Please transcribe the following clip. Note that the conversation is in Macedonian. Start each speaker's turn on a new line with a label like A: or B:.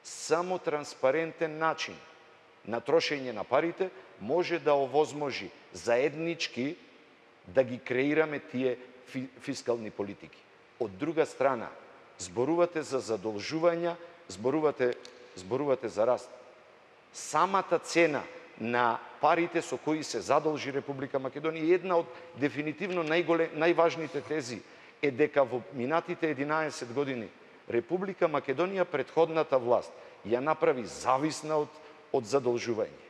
A: Само транспарентен начин на трошење на парите може да овозможи заеднички да ги креираме тие фискални политики. Од друга страна, зборувате за задолжувања, зборувате за раст. Самата цена на парите со кои се задолжи Република Македонија, една од дефинитивно најважните тези е дека во минатите 11 години Република Македонија, претходната власт, ја направи зависна од задолжување.